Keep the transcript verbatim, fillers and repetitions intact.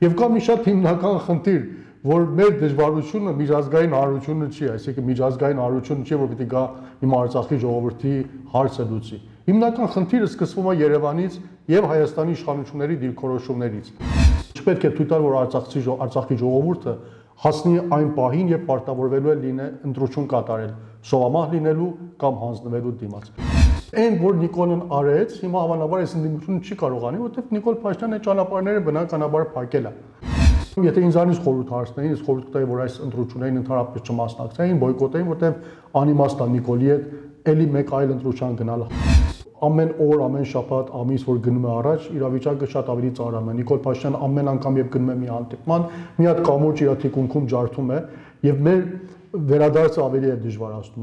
Եվ կա մի շատ հիմնական խնդիր, որ մեր դժվարությունը միջազգային հանրությունը չի, այսինքն միջազգային հանրությունը չի, որ պիտի գա հիմա Արցախի ժողովրդի հարցը լուծի։ Հիմնական խնդիրը սկսվում է Երևանից եւ Հայաստանի իշխանությունների դիրքորոշումներից։ Չպետք է թույլ տալ, որ Արցախի Արցախի ժողովուրդը հասնի այն պահին, երբ պարտավորվելու է լինել ընտրություն կատարել, սովամահ լինելու կամ հանձնվելու դիմաց։ Այն, որ Նիկոլն արեց, հիմա հավանաբար այս ընդդիմությունը չի կարող անի, որովհետեւ Նիկոլ Փաշինյանը ճանապարհները բնականաբար փակել է։ Եթե ինձանից խորհուրդ հարցնեին, ես խորհուրդ կտայի, որ այս ընտրություններին ընդհանրապես չմասնակցեին, բոյկոտեին, որովհետեւ անիմաստ է Նիկոլի հետ էլի մեկ այլ ընտրության գնալը։ Ամեն օր, ամեն շաբաթ, ամիս, որ գնում է առաջ, իրավիճակը շատ ավելի ծանրանում է։ Նիկոլ Փաշինյանը ամեն անգամ, երբ գնում է մի հանդիպման, մի հատ կամուրջ իր թիկունքում ջարդում է, եւ մեր վերադարձը ավելի է դժվարացնում։